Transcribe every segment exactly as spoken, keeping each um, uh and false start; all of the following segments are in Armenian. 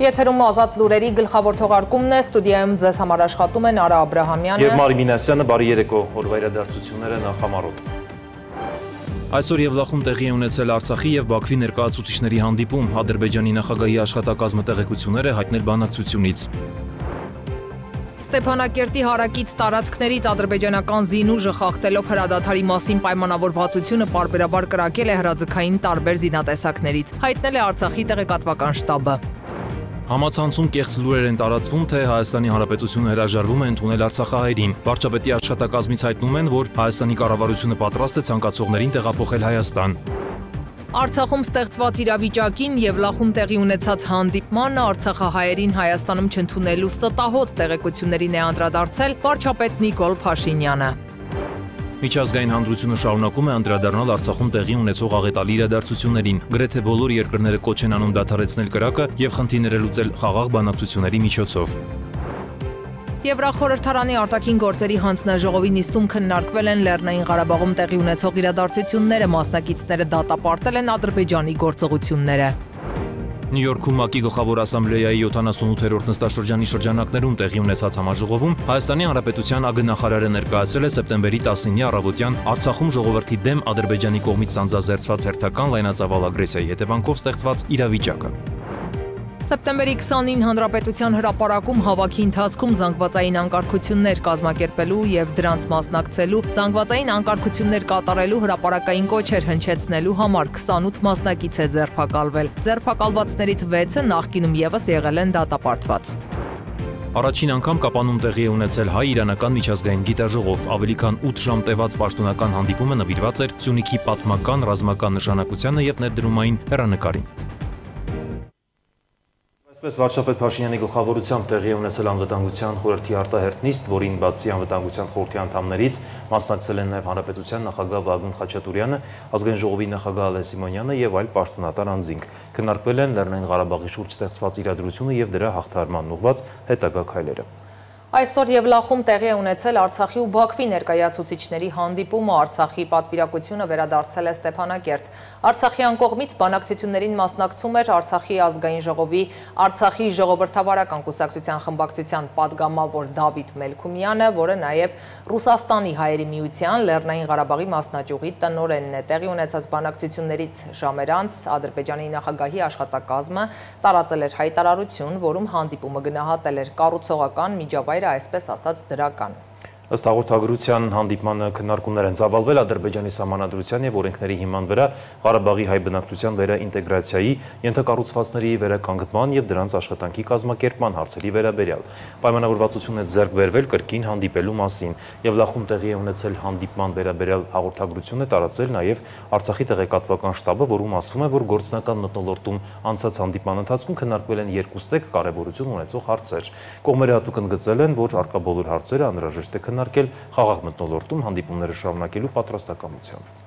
Եթերում ազատ լուրերի գլխավոր թողարկումն է, ստուդիայում ձեզ համար աշխատում են Արա Աբրահամյանը և Մարի Մինասյանը, բարի երեկո, օրվա իրադարձությունները նախամարոտ։ Այսօր Եվլախում տեղի է ունեցել Արցախի և Բաքվի ներկայացուցիչների հանդիպում, Ադրբեջանի նախագահի աշխատակազմը տեղեկություններ է հայտնել բանակցությունից։ Ստեփանակերտի հարակից տարածքներից ադրբեջանական զինուժը խախտելով հրադադարի մասին պայմանավորվածությունը պարբերաբար կրակել է հրաձգային տարբեր զինատեսակներից, հայտնել է Արցախի տեղեկատվական շտաբը։ Համացանցում կեղծ լուրեր են տարածվում, թե Հայաստանի Հանրապետությունը հրաժարվում է ընդունել արցախահայերին։ Վարչապետի աշխատակազմից հայտնում են, որ Հայաստանի կառավարությունը պատրաստ է ցանկացողներին տեղափոխել Հայաստան։ Արցախում ստեղծված իրավիճակին Եվլախում տեղի ունեցած հանդիպմանը արցախահայերին Հայաստանում չընդունելու ստահոդ տեղեկություններին է անդրադարձել վարչապետ Նիկոլ Փաշինյանը։ Միջազգային հանրությունը շարունակում է անդրադառնալ Արցախում տեղի ունեցող աղետալի իրադարձություններին։ Գրեթե բոլոր երկրները կոչ են անում դադարեցնել կրակը և խնդիրները լուծել խաղաղ բանակցությունների միջոցով։ Եվրախորհրդարանի արտաքին գործերի հանձնաժողովի նիստում քննարկվել են Լեռնային Ղարաբաղում տեղի ունեցող իրադարձությունները, մասնակիցները դատապարտել են Ադրբեջանի գործողությունները։ Նյու Յորքում ՄԱԿ-ի գլխավոր ասամբլեայի յոթանասունութերորդ նստաշրջանի շրջանակներում տեղի ունեցած համաժողովում Հայաստանի Հանրապետության ԱԳ-նախարարը ներկայացրել է սեպտեմբերի տասնինի առավոտյան Արցախում ժողովրդի դեմ Ադրբեջանի կողմից սանձազերծված հերթական լայնածավալ ագրեսիայի հետևանքով ստեղծված իրավիճակը։ Սեպտեմբերի քսանին Հանրապետության հրապարակում հավաքի ընթացքում զանգվածային անկարգություններ կազմակերպելու և դրանց մասնակցելու, զանգվածային անկարգություններ կատարելու հրապարակային կոչեր հնչեցնելու համար քսանութ մասնակից է ձերբակալվել։ Ձերբակալվածներից վեցը նախկինում ևս եղել են դատապարտված։ Առաջին անգամ Կապանում տեղի է ունեցել հայ-իրանական միջազգային գիտաժողով, ավելի քան ութ ժամ տևած պաշտոնական հանդիպումը նվիրված էր Սյունիքի պատմական, ռազմական նշանակությանը և ներդրումային հեռանկարին։ Այսպես վարչապետ Փաշինյանի գլխավորությամբ տեղի է ունեցել անվտանգության խորհրդի արտահերթ նիստ, որին բացի անվտանգության խորհրդի անդամներից մասնակցել են նաև Հանրապետության նախագահ Վագն Խաչատուրյանը, Ազգային ժողովի նախագահ Ալեն Սիմոնյանը և այլ պաշտոնատար անձինք։ Քննարկվել են Լեռնային Ղարաբաղի շուրջ ստեղծված իրադրությունը և դրա հաղթահարմանն ուղղված հետագա քայլերը։ Այսօր Եվլախում տեղի է ունեցել Արցախի ու Բաքվի ներկայացուցիչների հանդիպումը, Արցախի պատվիրակությունը վերադարձել է Ստեփանակերտ։ Արցախյան կողմից բանակցություններին մասնակցում էր Արցախի ազգային ժողովի Արցախի ժողովրդավարական կուսակցության խմբակցության падգամավոր Դավիթ Մելքումյանը, որը նաև Ռուսաստանի հայերի միության Լեռնային Ղարաբաղի մասնաճյուղի տնօրենն է։ Տեղի ունեցած բանակցություններից ժամեր անց Ադրբեջանի նախագահի աշխատակազմը տարածել էր հայտարարություն, որում հանդիպումը գնահատել էր կառուցողական միջավայր այսպես ասած դրական։ Ըստ հաղորդագրության հանդիպմանը քննարկումներ են ծավալվել Ադրբեջանի սահմանադրության և օրենքների հիման վրա Ղարաբաղի հայ բնակչության վերաինտեգրացիայի, ենթակառուցվածքների վերականգնման և դրանց աշխատանքի կազմակերպման հարցերի վերաբերյալ։ Պայմանավորվածություն է ձեռք բերվել կրկին հանդիպելու մասին։ Եվլախում տեղի է ունեցել հանդիպման վերաբերյալ հաղորդագրություն է տարածել նաև Արցախի տեղեկատվական շտաբը, որում ասվում է, որ գործնական մթնոլորտում անցած հանդիպման ընթացքում քննարկվել են երկուստեք կարևորություն ունեցող հարցեր։ Կողմերը հատուկ ընդգծել են, որ առկա բոլոր հարցերը անհրաժեշտ է քննարկել խաղաղ մթնոլորտում հանդիպումները շարունակելու պատրաստակամությամբ։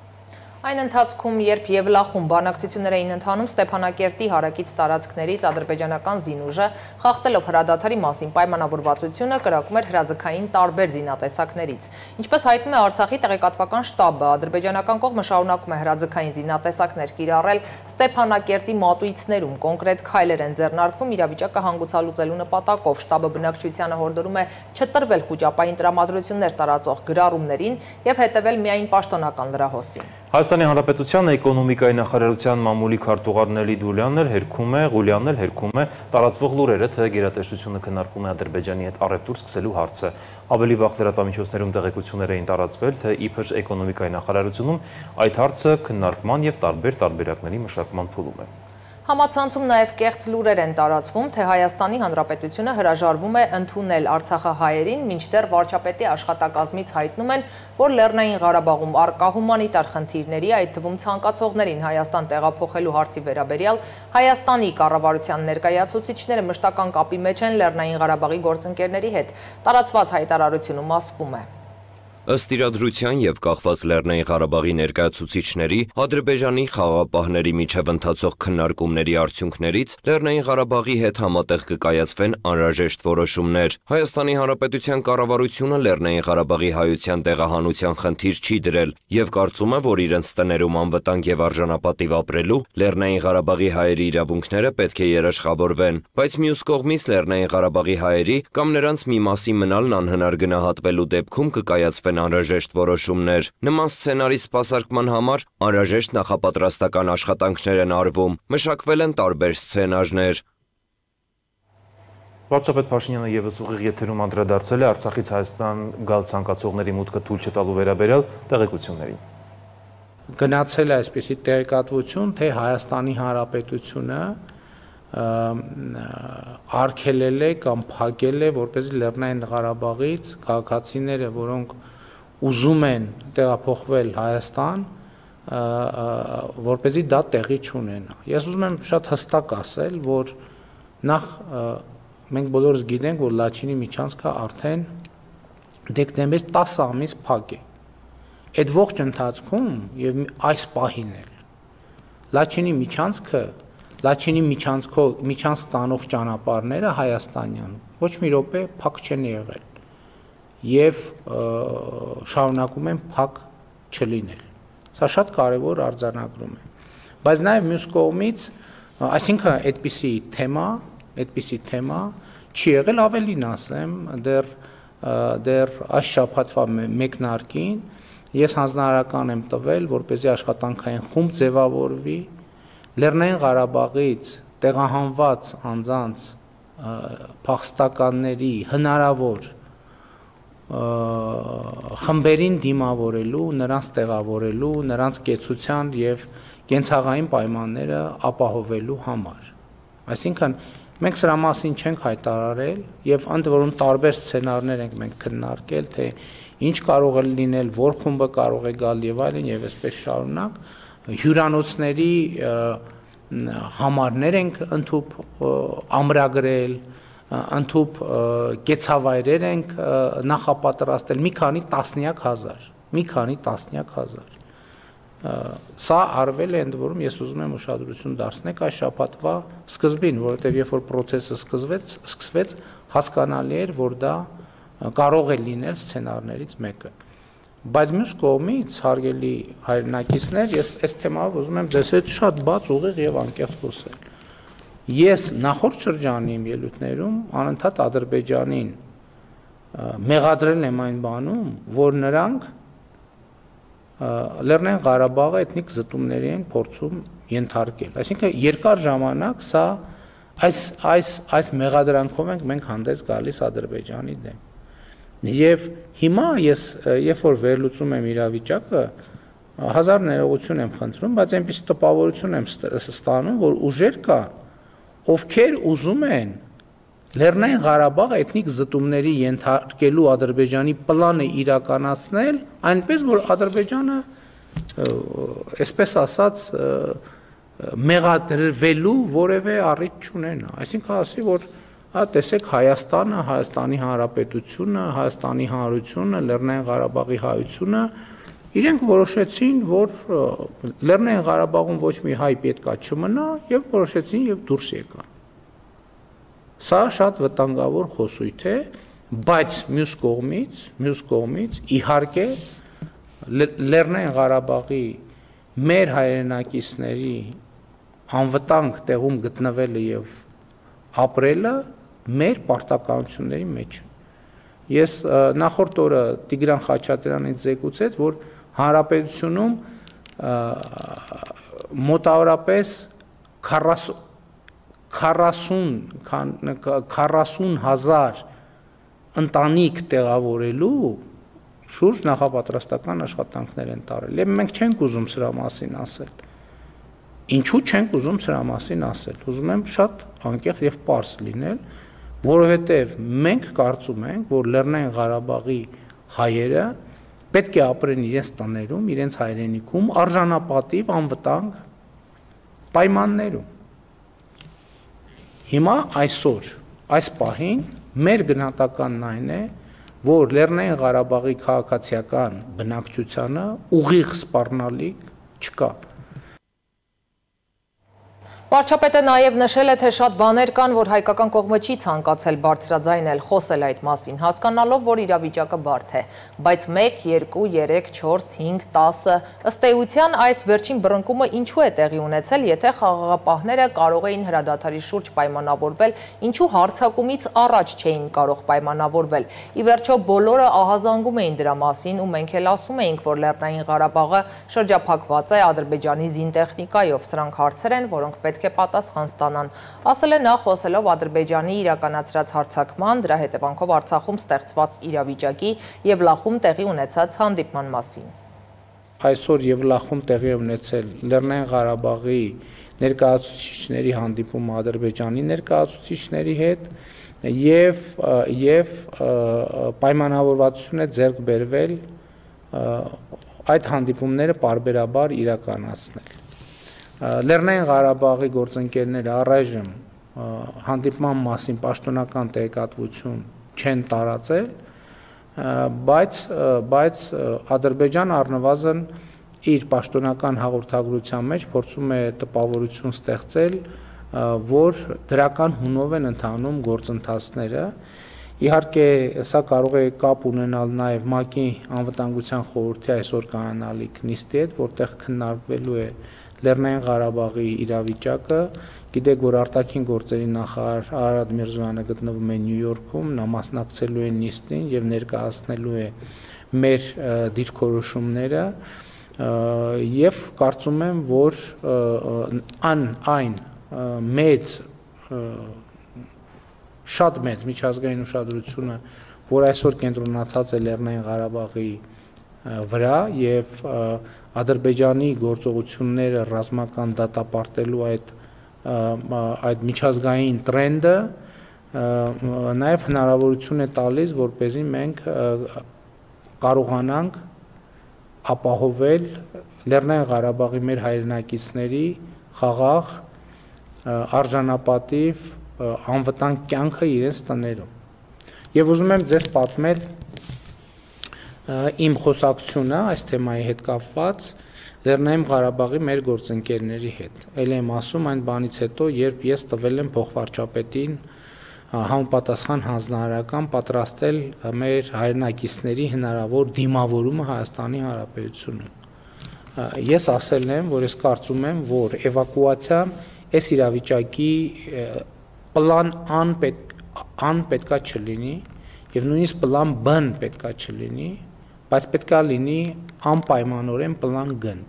Այն ընթացքում, երբ Եվլախում բանակցություններ էին ընթանում, Ստեփանակերտի հարակից տարածքներից ադրբեջանական զինուժը խախտելով հրադադարի մասին պայմանավորվածությունը կրակում էր հրաձգային տարբեր զինատեսակներից։ Ինչպես հայտնում է Արցախի տեղեկատվական շտաբը, ադրբեջանական կողմը շարունակում է հրաձգային զինատեսակներ կիրառել Ստեփանակերտի մատույցներում, կոնկրետ քայլեր են ձեռնարկվում իրավիճակը հանգուցալուծելու նպատակով։ Շտաբը բնակչությանը հորդորում է չտրվել խուճապային տրամադրություններ տարածող գրառումներին և հետևել միայն պաշտոնական լրահոսին։ Հայաստանի Հանրապետության էկոնոմիկայի նախարարության մամուլի քարտուղար Նելի Դուլյանն հերքում է, Ղուլյանն էլ հերքում է տարածվող լուրերը, թե գերատեսչությունը քննարկում է Ադրբեջանի հետ առևտուր սկսելու հարցը։ Ավելի վաղ լրատվամիջոցներում տեղեկություններ էին տարածվել, թե իբր էկոնոմիկայի նախարարությունում այդ հարցը քննարկման և տարբեր տարբերակների մշակման փուլում է։ Համացանցում նաև կեղծ լուրեր են տարածվում, թե Հայաստանի Հանրապետությունը հրաժարվում է ընդունել արցախահայերին, մինչդեռ վարչապետի աշխատակազմից հայտնում են, որ Լեռնային Ղարաբաղում առկա հումանիտար խնդիրների, այդ թվում ցանկացողներին Հայաստան տեղափոխելու հարցի վերաբերյալ Հայաստանի կառավարության ներկայացուցիչները մշտական կապի մեջ են Լեռնային Ղարաբաղի գործընկերների հետ։ Տարածված հայտարարությունում ասվում է. Ըստ իրադրության եւ կախված Լեռնային Ղարաբաղի ներկայացուցիչների, Ադրբեջանի խաղաղապահների միջև ընթացող քննարկումների արդյունքներից Լեռնային Ղարաբաղի հետ համատեղ կկայացվեն անհրաժեշտ որոշումներ։ Հայաստանի Հանրապետության կառավարությունը Լեռնային Ղարաբաղի հայության տեղահանության խնդիր չի դրել եւ կարծում է, որ իրենց տներում անվտանգ եւ արժանապատիվ ապրելու Լեռնային Ղարաբաղի հայերի իրավունքները պետք է երաշխավորվեն, բայց մյուս կողմից Լեռնային Ղարաբաղի հայերի կամ նրանց մի մասի մնալն անհնար գնահատվելու դեպքում կկայացվեն անհրաժեշտ որոշումներ։ Նման սցենարի սպասարկման համար անհրաժեշտ նախապատրաստական աշխատանքներ են արվում, մշակվել են տարբեր սցենարներ։ Վարչապետ Փաշինյանը ևս ուղիղ եթերում անդրադարձել է Արցախից Հայաստան գալ ցանկացողների մուտքը թույլ չտալու վերաբերյալ տեղեկություններին։ Գնացել է այսպիսի տեղեկատվություն, թե Հայաստանի Հանրապետությունը արգելել է կամ փակել է, որպեսզի Լեռնային Ղարաբաղից քաղաքացիները, որոնք ուզում են տեղափոխվել Հայաստան, որպեսզի դա տեղի չունենա։ Ես ուզում եմ շատ հստակ ասել, որ նախ մենք բոլորս գիտենք, որ Լաչինի միջանցքը արդեն դեկտեմբերի տասը ամիս փակ է։ Այդ ողջ ընթացքում եւ այս պահին էլ Լաչինի միջանցքը, Լաչինի միջանցքով միջանց ստանող ճանապարհները հայաստանյան ոչ մի րոպե փակ չեն եղել եւ շարունակում են փակ չլինել։ Սա շատ կարևոր արձանագրում է։ Բայց նաեւ մյուս կողմից, այսինքն այդպիսի թեմա, այդպիսի թեմա չի եղել, ավելին ասեմ, դեռ դեռ այս շաբաթվա մեկնարկին ես հանձնարարական եմ տվել, որպեսզի աշխատանքային խումբ ձևավորվի Լեռնային Ղարաբաղից տեղահանված անձանց փախստականների հնարավոր խմբերին դիմավորելու, նրանց տեղավորելու, նրանց կեցության եւ կենցաղային պայմանները ապահովելու համար։ Այսինքն մենք սրա մասին չենք հայտարարել եւ ընդ որում տարբեր սցենարներ ենք մենք քննարկել, թե ինչ կարող է լինել, որ խումբը կարող է գալ եւ այլն եւ այսպես շարունակ հյուրանոցների համարներ ենք ընդհուպ ամրագրել, ընդհուպ կեցավայրեր ենք նախապատրաստել, մի քանի տասնյակ հազար, մի քանի տասնյակ հազար։ Սա արվել է, ընդ որում ես ուզում եմ ուշադրություն դարձնեք այս շաբաթվա սկզբին, որովհետև երբ որ process-ը սկսվեց, սկսվեց, հասկանալի էր, որ դա կարող է լինել սցենարներից մեկը։ Բայց մյուս կողմից, հարգելի հայրենակիցներ, ես այս թեմայով ուզում եմ ձեզ հետ շատ բաց, ուղիղ եւ անկեղծ խոսել։ Ես նախորդ շրջանի իմ ելույթներում անընդհատ Ադրբեջանին մեղադրել եմ այն բանում, որ նրանք Լեռնային Ղարաբաղը էթնիկ զտումների են փորձում ենթարկել։ Այսինքն երկար ժամանակ սա այս այս այս մեղադրանքով ենք մենք հանդես գալիս Ադրբեջանի դեմ։ Եվ հիմա ես երբ որ վերլուծում եմ իրավիճակը, հազար ներողություն եմ խնդրում, բայց այնպես տպավորություն եմ ստանում, որ ուժեր կան, ովքեր ուզում են Լեռնային Ղարաբաղը էթնիկ զտումների ենթարկելու Ադրբեջանի պլանը իրականացնել, այնպես որ Ադրբեջանը, այսպես ասած, մեղադրվելու որևէ առիթ չունենա։ Այսինքն ասի, որ հա տեսեք Հայաստանը, Հայաստանի Հանրապետությունը, Հայաստանի Հանրությունը, Լեռնային Ղարաբաղի հայությունը իրենք որոշեցին, որ Լեռնային Ղարաբաղում ոչ մի հայ պետքա չմնա եւ որոշեցին եւ դուրս եկան։ Սա շատ վտանգավոր խոսույթ է, բայց մյուս կողմից, մյուս կողմից իհարկե Լեռնային Ղարաբաղի մեր հայրենակիցների անվտանգ տեղում գտնվելը եւ ապրելը մեր պարտականությունների մեջ է։ Ես նախորդ օրը Տիգրան Խաչատրյանից զեկուցեց, որ հանրապետությունում մոտավորապես քառասուն հազար ընտանիք տեղավորելու շուրջ նախապատրաստական աշխատանքներ են տարել։ Եվ մենք չենք ուզում սրա մասին ասել։ Ինչու չենք ուզում սրա մասին ասել։ Ուզում եմ շատ անկեղծ եւ պարզ լինել, որովհետեւ մենք կարծում ենք, որ Լեռնային Ղարաբաղի հայերը պետք է ապրեն իրենց տներում, իրենց հայրենիքում արժանապատիվ, անվտանգ պայմաններում։ Հիմա այսօր, այս պահին մեր գնահատականն այն է, որ Լեռնային Ղարաբաղի քաղաքացիական բնակչությանը ուղիղ սպառնալիք չկա։ Վարչապետը նաև նշել է, թե շատ բաներ կան, որ հայկական կողմը չի ցանկացել բարձրաձայնել, խոսել այդ մասին, հասկանալով, որ իրավիճակը բարդ է, բայց մեկ, երկու, երեք, չորս, հինգ, տասը, ըստ էության այս վերջին բռնկումը ինչու է տեղի ունեցել, եթե խաղաղապահները կարող էին հրադադարի շուրջ պայմանավորվել, ինչու հարձակումից առաջ չէին կարող պայմանավորվել։ Ի վերջո բոլորը ահազանգում էին դրա մասին ու մենք էլ ասում էինք, որ Լեռնային Ղարաբաղը շրջափակված է Ադրբեջանի զինտեխնիկայով, սրանք հարցեր են, որոնք պետք է պատասխան ստանան, ասել է նա խոսելով Ադրբեջանի իրականացրած հարձակման, դրա հետևանքով Արցախում ստեղծված իրավիճակի եւ Լախում տեղի ունեցած հանդիպման մասին։ Այսօր Եվլախում տեղի է ունեցել Լեռնային Ղարաբաղի ներկայացուցիչների հանդիպումը Ադրբեջանի ներկայացուցիչների հետ եւ եւ պայմանավորվածություն է ձեռք բերվել այդ հանդիպումները պարբերաբար իրականացնել։ Լեռնային Ղարաբաղի գործընկերները առայժմ հանդիպման մասին պաշտոնական տեղեկատվություն չեն տարածել, բայց բայց Ադրբեջանը առնվազն իր պաշտոնական հաղորդագրության մեջ փորձում է տպավորություն ստեղծել, որ դրական հունով են ընթանում գործընթացները։ Իհարկե, սա կարող է կապ ունենալ նաև ՄԱԿ-ի անվտանգության խորհրդի այսօր կանանալիք նիստի հետ, որտեղ քննարկվելու է Լեռնային Ղարաբաղի իրավիճակը, գիտեք, որ արտաքին գործերի նախարար Արարատ Միրզոյանը գտնվում է Նյու Յորքում, նա մասնակցելու է նիստին եւ ներկայացնելու է մեր դիրքորոշումները եւ կարծում եմ, որ ան այն մեծ շատ մեծ միջազգային ուշադրությունը, որ այսօր կենտրոնացած է Լեռնային Ղարաբաղի վրա եւ Ադրբեջանի գործողությունները ռազմական դատապարտելու այդ այդ միջազգային տրենդը նաև հնարավորություն է տալիս, որպեսզի մենք կարողանանք ապահովել Լեռնային Ղարաբաղի մեր հայրենակիցների խաղաղ, արժանապատիվ, անվտանգ կյանքը իրենց տներում։ Եվ ուզում եմ ձեզ պատմել իմ խոսակցությունը այս թեմայի հետ կապված Լեռնային Ղարաբաղի մեր գործընկերների հետ։ Էլ եմ ասում այն բանից հետո, երբ ես տվել եմ փոխվարչապետին համապատասխան հանձնարարական պատրաստել մեր հայրենակիցների հնարավոր դիմավորումը Հայաստանի Հանրապետությունում։ Ես ասել եմ, որ ես կարծում եմ, որ էվակուացիան այս իրավիճակի պլան ան ան պետքա չլինի եւ նույնիսկ պլան B-ն պետքա չլինի, բայց պետքա լինի անպայմանորեն պլան G-ն։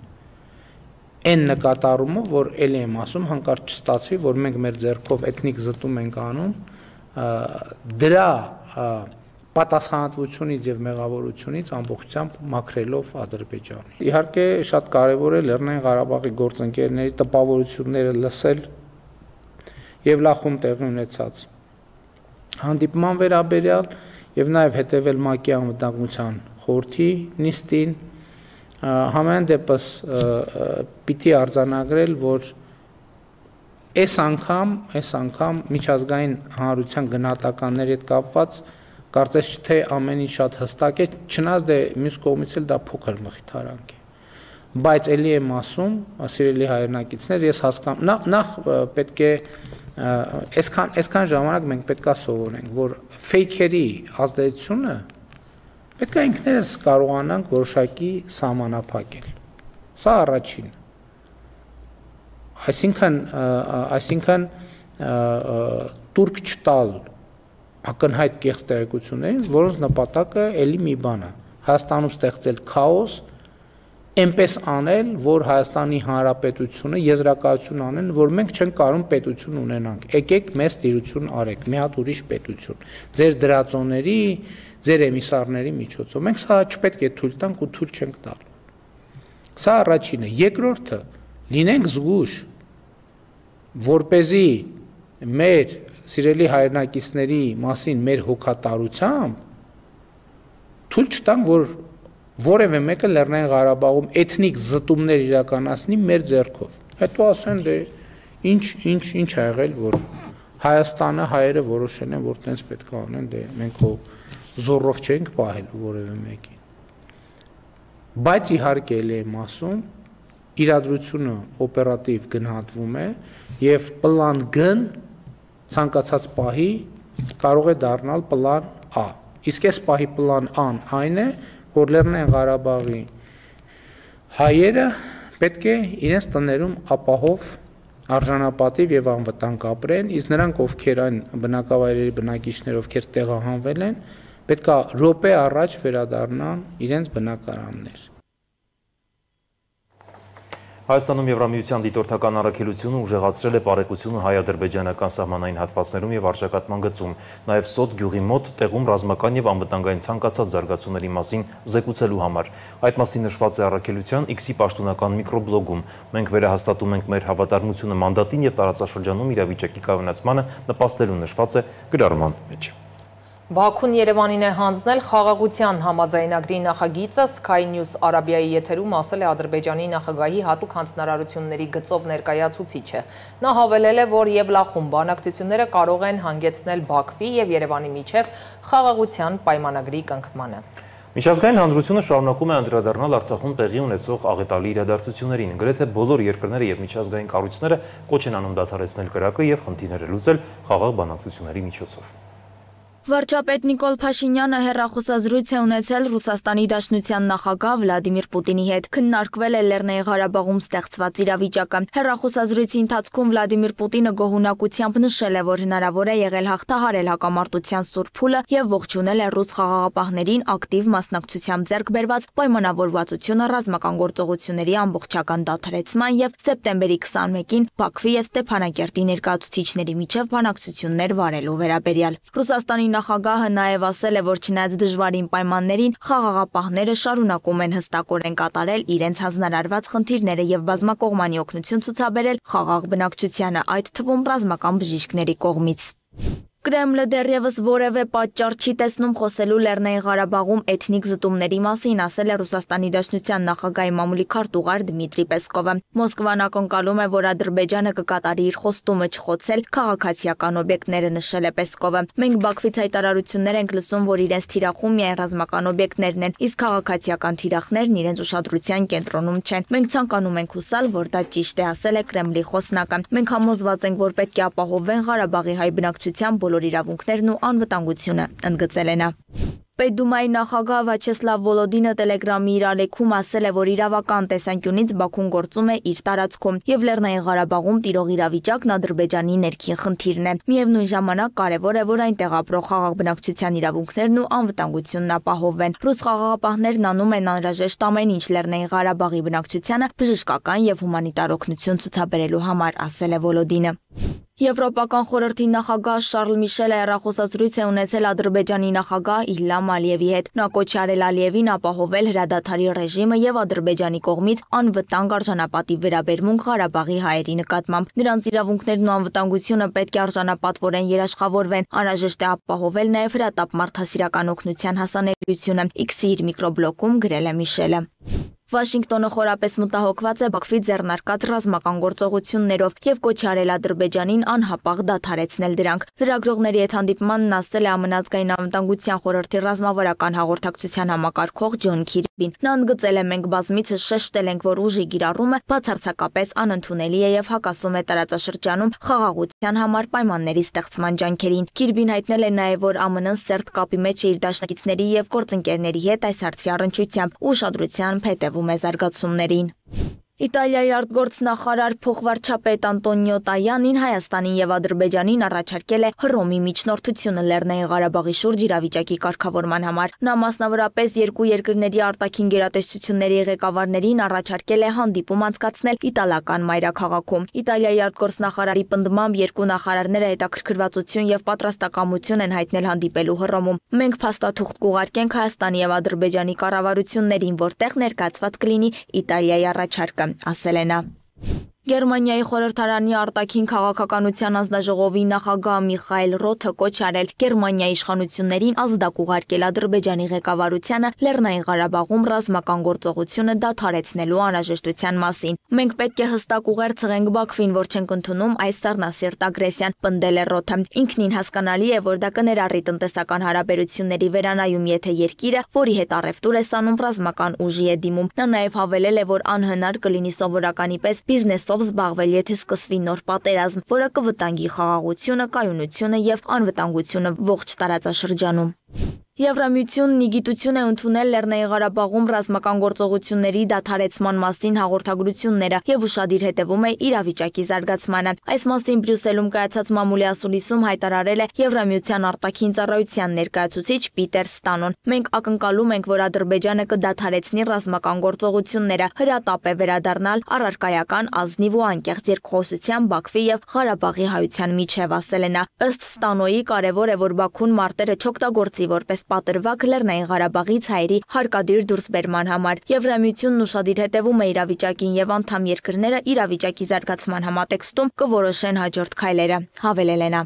Այն նկատառումով, որ ելի եմ ասում, հանկարծ չստացվի, որ մենք մեր ձեռքով էթնիկ զտում ենք անում, դրա պատասխանատվությունից եւ մեղավորությունից ամբողջությամբ մաքրելով Ադրբեջանը։ Իհարկե շատ կարեւոր է Լեռնային Ղարաբաղի գործընկերների տպավորությունները լսել եւ Լախում տեղի ունեցած հանդիպման վերաբերյալ եւ նաեւ հետեւել ՄԱԿ-ի անվտանգության խորհրդի նիստին, համեն դեպս պիտի արձանագրել, որ այս անգամ, այս անգամ միջազգային հանրության գնահատականների հետ կապված կարծես թե ամեն ինչ շատ հստակ է, չնայած դե մյուս կողմից էլ դա փոքր մխիթարանք է։ Բայց ելի եմ ասում, սիրելի հայրենակիցներ, ես հասկանում, նախ պետք է այսքան այսքան ժամանակ մենք պետք է սովորենք, որ ֆեյքերի ազդեցությունը պետք է ինքներս կարողանանք որոշակի սահմանափակել։ Սա առաջին։ Այսինքն, այսինքն տուրք չտալ ակնհայտ կեղծ տեղեկություններին, որոնց նպատակը էլի մի բան է, Հայաստանում ստեղծել քաոս, այնպես անել, որ Հայաստանի Հանրապետությունը եզրակացություն անեն, որ մենք չենք կարող պետություն ունենանք։ Եկեք մեզ տիրություն արեք, մի հատ ուրիշ պետություն։ Ձեր դրածոների, ձեր էմիսարների միջոցով։ Մենք սա չպետք է թույլ տանք ու թույլ չենք տալ։ Սա առաջինը, երկրորդը, լինենք զգույշ, որպեսզի մեր սիրելի հայրենակիցների մասին մեր հոգատարությամբ թույլ չտանք, որ որևէ մեկը Լեռնային Ղարաբաղում էթնիկ զտումներ իրականացնի մեր ձեռքով։ Հետո ասեն դե ինչ ինչ ինչ ա եղել, որ Հայաստանը հայերը որոշել են, որ տենց պետք է անեն, դե մենք հո զորով չենք պահելու որևէ մեկին։ Բայց իհարկե էլ եմ ասում, իրադրությունը օպերատիվ գնահատվում է եւ պլան G-ն ցանկացած պահի կարող է դառնալ պլան A։ Իսկ այս պահի պլան A-ն այն է, որ Լեռնային Ղարաբաղի հայերը պետք է իրենց տներում ապահով արժանապատիվ եւ անվտանգ ապրեն, իսկ նրանք, ովքեր այն բնակավայրերի բնակիչներ, ովքեր տեղահանվել են, պետք է րոպե առաջ վերադառնան իրենց բնակարաններ։ Հայաստանում Եվրամիության դիտորդական առաքելությունը ուժեղացրել է բարեկությունը հայ-ադրբեջանական սահմանային հատվածներում եւ արժակատման գծում, նաեւ Սոտ գյուղի մոտ տեղում ռազմական եւ անվտանգային ցանկացած զարգացումների մասին զեկուցելու համար։ Այդ մասին նշված է առաքելության X-ի պաշտոնական միկրոբլոգում։ Մենք վերահաստատում ենք մեր հավատարմությունը մանդատին եւ տարածաշրջանում իրավիճակի կայունացմանը նպաստելու նշված է գրառման մեջ։ Բաքուն Երևանին է հանձնել խաղաղության համաձայնագրի նախագիծը, Sky News Արաբիայի եթերում ասել է Ադրբեջանի նախագահի հատուկ հանձնարարությունների գծով ներկայացուցիչը։ Նա հավելել է, որ Եվլախում բանակցությունները կարող են հանգեցնել Բաքվի եւ Երևանի միջև խաղաղության պայմանագրի կնքմանը։ Միջազգային հանրությունը շարունակում է անդրադառնալ Արցախում տեղի ունեցող աղետալի իրադարձություններին։ Գրեթե բոլոր երկրները եւ միջազգային կառույցները կոչ են անում դադարեցնել կրակը եւ խնդիրները լուծել խաղաղ բանակցությունների միջոցով։ Վարչապետ Նիկոլ Փաշինյանը հեռախոսազրույց է ունեցել Ռուսաստանի Դաշնության նախագահ Վլադիմիր Պուտինի հետ։ Քննարկվել է Լեռնային Ղարաբաղում ստեղծված իրավիճակը։ Հեռախոսազրույցի ընթացքում Վլադիմիր Պուտինը գոհունակությամբ նշել է, որ հնարավոր է եղել հաղթահարել հակամարտության սուր փուլը եւ ողջունել է ռուս խաղաղապահներին ակտիվ մասնակցությամբ ձեռք բերված պայմանավորվածությունը ռազմական գործողությունների ամբողջական դադարեցման եւ սեպտեմբերի քսանմեկին Բաքվի եւ Ստեփանակերտի ներկայացուցիչների միջև բանակցություններ վարելու վերաբերյալ։ Ռուսաստանի նախագահը նաև ասել է, որ չնայած դժվարին պայմաններին խաղաղապահները շարունակում են հստակորեն կատարել իրենց հանձնարարված խնդիրները եւ բազմակողմանի օգնություն ցուցաբերել խաղաղ բնակչությանը, այդ թվում ռազմական բժիշկների կողմից։ Կրեմլը դեռևս որևէ պատճառ չի տեսնում խոսելու Լեռնային Ղարաբաղում էթնիկ զտումների մասին, ասել է Ռուսաստանի Դաշնության նախագահի մամուլի քարտուղար Դմիտրի Պեսկովը։ Մոսկվան ակնկալում է, որ Ադրբեջանը կկատարի իր խոստումը չխոցել քաղաքացիական օբյեկտները, նշել է Պեսկովը։ Մենք Բաքվից հայտարարություններ ենք լսում, որ իրենց թիրախում միայն ռազմական օբյեկտներն են, իսկ քաղաքացիական թիրախներն իրենց ուշադրության կենտրոնում չեն։ Մենք ցանկանում ենք հուսալ, որ դա ճիշտ է, ասել է Կրեմլի խոսնակը։ Մենք համոզված ենք, որ պետք է ապահովեն Ղարաբաղի հայ բնակչության բոլոր իրավունքներն ու անվտանգությունը, ընդգծել է նա։ Պետդումայի նախագահ Վաչեսլավ Վոլոդինը Տելեգրամի իր ալեքում ասել է, որ իրավական տեսանկյունից Բաքուն գործում է իր տարածքում եւ Լեռնային Ղարաբաղում տիրող իրավիճակն Ադրբեջանի ներքին խնդիրն է։ Միևնույն ժամանակ կարևոր է, որ այնտեղ ապրող խաղաղ բնակչության իրավունքներն ու անվտանգությունն ապահովվեն։ Ռուս խաղաղապահներն անում են անհրաժեշտ ամեն ինչ Լեռնային Ղարաբաղի բնակչությանը բժշկական եւ հումանիտար օգնություն ցուցաբերելու համար, ասել է Վոլոդինը։ Եվրոպական խորհրդի նախագահ Շարլ Միշելը հեռախոսազրույց է ունեցել Ադրբեջանի նախագահ Իլհամ Ալիևի հետ։ Նա կոչ է արել Ալիևին ապահովել հրադադարի ռեժիմը եւ Ադրբեջանի կողմից անվտանգ արժանապատիվ վերաբերմունք Ղարաբաղի հայերի նկատմամբ։ Նրանց իրավունքներն ու անվտանգությունը պետք է արժանապատվորեն երաշխավորվեն։ Անհրաժեշտ է ապահովել նաեւ հրատապ մարդասիրական օգնության հասանելիությունը։ X-ի իր միկրոբլոգում գրել է Միշելը։ Վաշինգտոնը խորապես մտահոգված է Բաքվի ձեռնարկած ռազմական գործողություններով եւ կոչ արել Ադրբեջանին անհապաղ դադարեցնել դրանք։ Լրագրողների հետ հանդիպմանն ասել է Ամենազգային անվտանգության խորհրդի ռազմավարական հաղորդակցության համակարգող Ջոն Քիրբին։ Նա ընդգծել է, մենք բազմիցս շեշտել ենք, որ ուժի կիրառումը բացարձակապես անընդունելի է եւ հակասում է տարածաշրջանում խաղաղության համար պայմանների ստեղծման ջանքերին։ Քիրբին հայտնել է նաեւ, որ ԱՄՆ-ն սերտ կապի մեջ է իր դաշնակիցների եւ գործընկերների հետ այս հարցի առնչությամբ ուշադրությամբ հետեւում է զարգացումներին։ Իտալիայի արտգործնախարար փոխվարչապետ Անտոնիո Տայանին Հայաստանին եւ Ադրբեջանին առաջարկել է Հռոմի միջնորդությունը Լեռնային Ղարաբաղի շուրջ իրավիճակի կարգավորման համար։ Նա մասնավորապես երկու երկրների արտաքին գերատեսչությունների ղեկավարներին առաջարկել է հանդիպում անցկացնել իտալական մայրաքաղաքում։ Իտալիայի արտգործնախարարի պնդմամբ երկու նախարարները հետաքրքրվածություն եւ պատրաստակամություն են հայտնել հանդիպելու Հռոմում։ Մենք փաստաթուղթ կուղարկենք Հայաստանի եւ Ադրբեջանի կառավարություններին, որտեղ ներկայացված կլինի Իտալիայի առաջարկը, ասել է նա։ Գերմանիայի խորհրդարանի արտաքին քաղաքականության հանձնաժողովի նախագահ Միխայել Ռոթը կոչ արել Գերմանիայի իշխանություններին ազդակ ուղարկել Ադրբեջանի ղեկավարությանը Լեռնային Ղարաբաղում ռազմական գործողությունը դադարեցնելու անհրաժեշտության մասին։ Մենք պետք է հստակ ուղեր ցղենք Բաքվին, որ չենք ընդունում այս սառնասիրտ ագրեսիան, պնդել է Ռոթը։ Ինքնին հասկանալի է, որ դա կներառի տնտեսական հարաբերությունների վերանայում, եթե երկիրը, որի հետ առևտուր է սանում, ռազմական ուժի է դիմում։ Նա նաև հավելել է, որ անհնար կլինի սովորականի պես բիզնեսով զբաղվել, եթե սկսվի նոր պատերազմ, որը կվտանգի խաղաղությունը, կայունությունը եւ անվտանգությունը ողջ տարածաշրջանում։ Եվրամիությունն ի գիտություն է ընդունել Լեռնային Ղարաբաղում ռազմական գործողությունների դադարեցման մասին հաղորդագրությունները եւ ուշադիր հետևում է իրավիճակի զարգացմանը։ Այս մասին Բրյուսելում կայացած մամուլի ասուլիսում հայտարարել է Եվրամիության արտաքին ծառայության ներկայացուցիչ Պիտեր Ստանոն։ Մենք ակնկալում ենք, որ Ադրբեջանը կդադարեցնի ռազմական գործողությունները, հրատապ է վերադառնալ առարկայական, ազնիվ ու անկեղծ երկխոսության Բաքվի եւ Ղարաբաղի հայության միջև, ասել է նա։ Ըստ Ստանոյի կարևոր է, որ Բաքուն մարտերը չօգտագործի որպես պատրվակ Լեռնային Ղարաբաղից հայերի հարկադիր դուրսբերման համար։ Եվրամիությունն ուշադիր հետևում է իրավիճակին եւ անդամ երկրները իրավիճակի զարգացման համատեքստում կորոշեն հաջորդ քայլերը, հավելել է նա։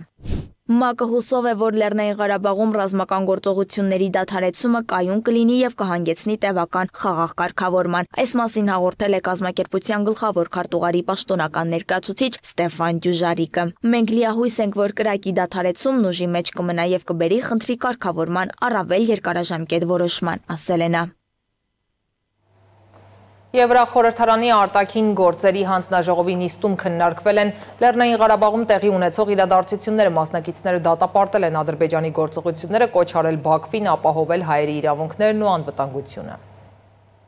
ՄԱԿ-ը հուսով է, որ Լեռնային Ղարաբաղում ռազմական գործողությունների դադարեցումը կայուն կլինի եւ կհանգեցնի տևական խաղաղ կարգավորման։ Այս մասին հաղորդել է կազմակերպության գլխավոր քարտուղարի պաշտոնական ներկայացուցիչ Ստեֆան Դյուժարիկը։ Մենք լիահույս ենք, որ կրակի դադարեցումն ուժի մեջ կմնա եւ կբերի խնդրի կարգավորման առավել երկարաժամկետ որոշման, ասել է նա։ Եվրախորհրդարանի արտաքին գործերի հանձնաժողովի նիստում քննարկվել են Լեռնային Ղարաբաղում տեղի ունեցող իրադարձությունները, մասնակիցները դատապարտել են Ադրբեջանի գործողությունները, կոչ արել Բաքվին ապահովել հայերի իրավունքներն ու անվտանգությունը։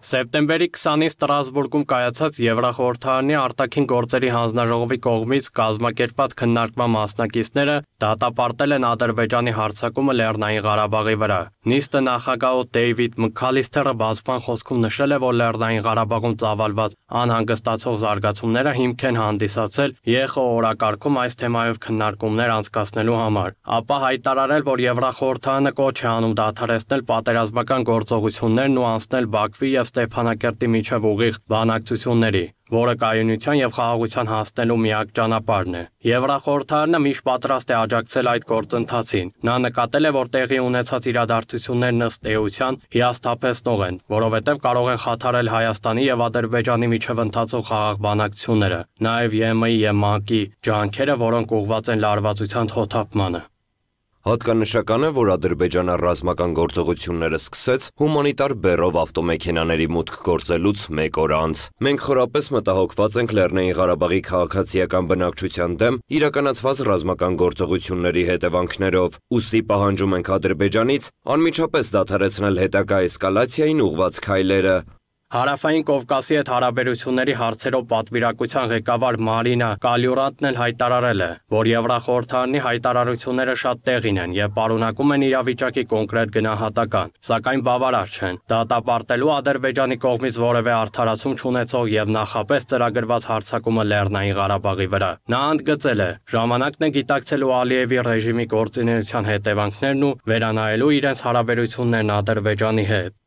Սեպտեմբերի քսանին Ստրասբուրգում կայացած Եվրախորհրդարանի արտաքին գործերի հանձնաժողովի կողմից կազմակերպված քննարկման մասնակիցները դատապարտել են Ադրբեջանի հարձակումը Լեռնային Ղարաբաղի վրա։ Նիստը նախագահ Դեյվիդ Մքալիսթերը բացման խոսքում նշել է, որ Լեռնային Ղարաբաղում ծավալված անհանգստացող զարգացումները հիմք են հանդիսացել ԵԽՕ օրակարգում այս թեմայով քննարկումներ անցկացնելու համար։ Ապա հայտարարել, որ Եվրախորհրդարանը կոչ է անում դադարեցնել պատերազմական գործողություններն ու անցնել Բաքվի եւ Ստեփանակերտի միջև ուղիղ բանակցությունների, որը կայունության եւ խաղաղության հասնելու միակ ճանապարհն է։ Եվրախորհրդարանը միշտ պատրաստ է աջակցել այդ գործընթացին։ Նա նկատել է, որ տեղի ունեցած իրադարձություններն ըստ էության հիասթափեցնող են, որովհետեւ կարող են խաթարել Հայաստանի եւ Ադրբեջանի միջև ընթացող խաղաղ բանակցությունները, նաեւ ԵՄ-ի եւ ՄԱԿ-ի ջանքերը, որոնք ուղղված են լարվածության խոթապմանը։ Հատկանշական է, որ Ադրբեջանը ռազմական գործողությունները սկսեց հումանիտար բեռով ավտոմեքենաների մուտք գործելուց մեկ օր անց։ Մենք խորապես մտահոգված ենք Լեռնային Ղարաբաղի քաղաքացիական բնակչության դեմ իրականացված ռազմական գործողությունների հետևանքներով։ Ուստի պահանջում ենք Ադրբեջանից անմիջապես դադարեցնել հետագա էսկալացիային ուղղված քայլերը։ Հարավային Կովկասի հետ հարաբերությունների հարցերով պատվիրակության ղեկավար Մարինա Կալյուրանտն էլ հայտարարել է, որ Եվրախորհրդարանի հայտարարությունները շատ տեղին են եւ պարունակում են իրավիճակի կոնկրետ գնահատական, սակայն բավարար չեն։ Դատապարտելու Ադրբեջանի կողմից որևէ արդարացում չունեցող եւ նախապես ծրագրված հարձակումը Լեռնային Ղարաբաղի վրա։ Նա ընդգծել է, ժամանակն է գիտակցելու Ալիևի ռեժիմի գործունեության հետևանքներն ու վերանայելու իրենց հարաբերություններն Ադրբեջանի հետ։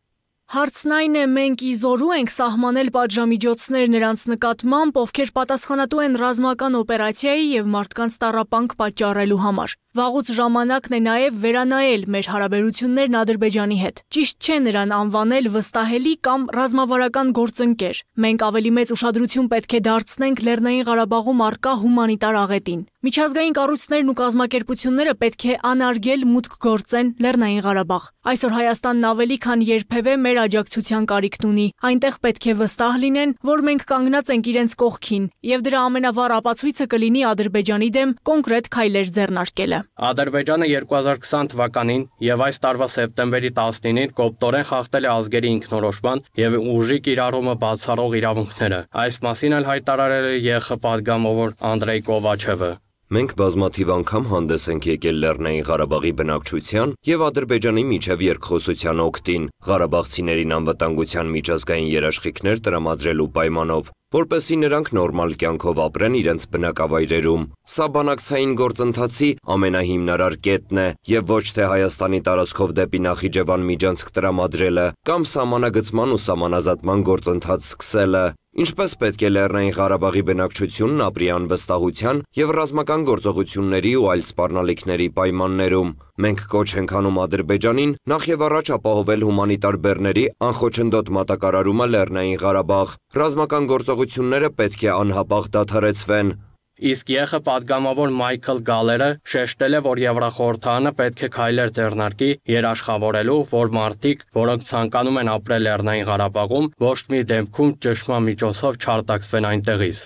Հարցն այն է, մենք իզորու ենք սահմանել պատժամիջոցներ նրանց նկատմամբ, ովքեր պատասխանատու են ռազմական օպերացիայի եւ մարդկանց տառապանք պատճառելու համար։ Վաղուց ժամանակն է նաև վերանայել մեր հարաբերություններն Ադրբեջանի հետ։ Ճիշտ չէ նրան անվանել վստահելի կամ ռազմավարական գործընկեր։ Մենք ավելի մեծ ուշադրություն պետք է դարձնենք Լեռնային Ղարաբաղում առկա հումանիտար աղետին։ Միջազգային կառույցներն ու կազմակերպությունները պետք է անարգել մուտք գործեն Լեռնային Ղարաբաղ։ Այսօր Հայաստանն ավելի քան երբևէ մեր աջակցության կարիքն ունի։ Այնտեղ պետք է վստահ լինեն, որ մենք կանգնած ենք իրենց կողքին, եւ դրա ամենավառ ապացույցը կլինի Ադրբեջանի դեմ կոնկրետ քայլեր ձեռնարկելը։ Ադրբեջանը երկու հազար քսան թվականին եւ այս տարվա սեպտեմբերի տասնինին կոպտորեն խախտել է ազգերի ինքնորոշման եւ ուժի կիրառումը բացառող իրավունքները։ Այս մասին էլ հայտարարել է ԵԽ պատգամավոր Անդրեյ Կովաչևը։ Մենք բազմաթիվ անգամ հանդես ենք եկել Լեռնային Ղարաբաղի բնակչության եւ Ադրբեջանի միջև երկխոսության օգտին, ղարաբաղցիներին անվտանգության միջազգային երաշխիքներ տրամադրելու պայմանով։ որպեսզի նրանք նորմալ կյանքով ապրեն իրենց բնակավայրերում։ Սա բանակցային գործընթացի ամենահիմնարար կետն է եւ ոչ թե Հայաստանի տարածքով դեպի Նախիջևան միջանցք տրամադրելը կամ սահմանագծման ու սահմանազատման գործընթաց սկսելը։ Ինչպես պետք է Լեռնային Ղարաբաղի բնակչությունն ապրի անվստահության եւ ռազմական գործողությունների ու այլ սպառնալիքների պայմաններում։ Մենք կոչ ենք անում Ադրբեջանին նախ եւ առաջ ապահովել հումանիտար բեռների անխոչնդոտ մատակարարումը Լեռնային Ղարաբաղ։ Ռազմական գործողությունները պետք է անհապաղ դադարեցվեն։ Իսկ ԵԽ պատգամավոր Մայքլ Գալերը շեշտել է, որ Եվրախորհրդարանը պետք է քայլեր ձեռնարկի երաշխավորելու, որ մարդիկ, որոնք ցանկանում են ապրել Լեռնային Ղարաբաղում, ոչ մի դեպքում ճնշման միջոցով չարտաքսվեն այնտեղից։